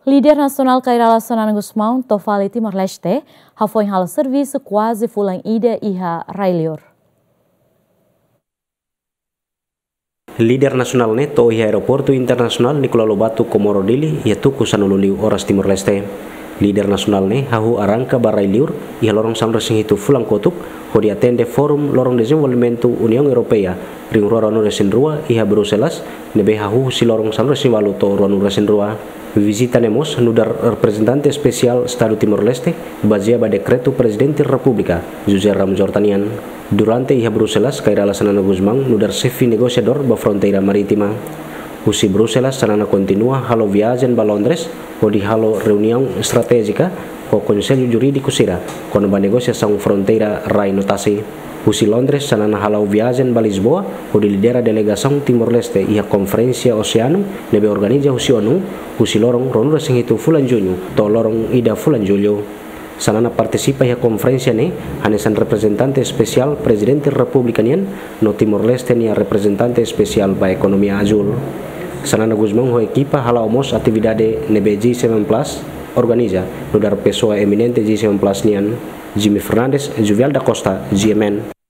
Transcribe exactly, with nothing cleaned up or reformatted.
Líder nasionál Kay Rala Xanana Gusmão to'o fali Timor-Leste, hafoin halo servisu kuaze fulan ida iha rai-liur. Líder nasionál ne'e to'o iha Aeroportu Internasionál Nicolau Lobato Comoro Dili iha tuku sanulu liu oras Timor-Leste. Líder nasionál ne'e hahú arranka ba rai-liur iha loron sanulu-resin-hitu fulan kotuk, hodi atende Forum Loron Dezenvolvimentu Uniaun Europeia rihun rua ruanulu-resin-rua iha Bruxelas, ne'ebé hahú husi loron sanulu-resin-ualu to'o ruanulu-resin-rua. Vizita ne'e mós nu'udar reprezentante espesiál Estadu Timor-Leste, bazeia ba dekretu Prezidente Repúblika, José Ramos Horta nian. Durante iha Bruxelas, Kay Rala Xanana Gusmão nu'udar xefe negosiadór ba fronteira marítima. Husi Bruxelas, Xanana kontinua halo viajen ba Londres, hodi halo reuniaun estratéjika ho Konsellu Jurídiku sira kona-ba negosiasaun fronteira rai no tasi. Husi Londres, Xanana hala'o viajen ba Lisboa, hodi lidera delegasaun Timor-Leste iha Konferénsia Oseanu ne'ebé organiza husi ONU, husi loron ruanulu-resin-hitu fulan Juñu to'o loron ida fulan Jullu. Xanana partisipa iha konferénsia ne'e hanesan reprezentante espesiál Prezidente Repúblika nian no Timor-Leste nia reprezentante espesiál ba ekonomia azúl. Xanana Gusmão ho ekipa hala'o mós atividade ne'ebé G seven Plus organiza, nu'udar pesoa eminente G seven Plus nian, Jimmy Fernandes, Juvial da Costa, G M N.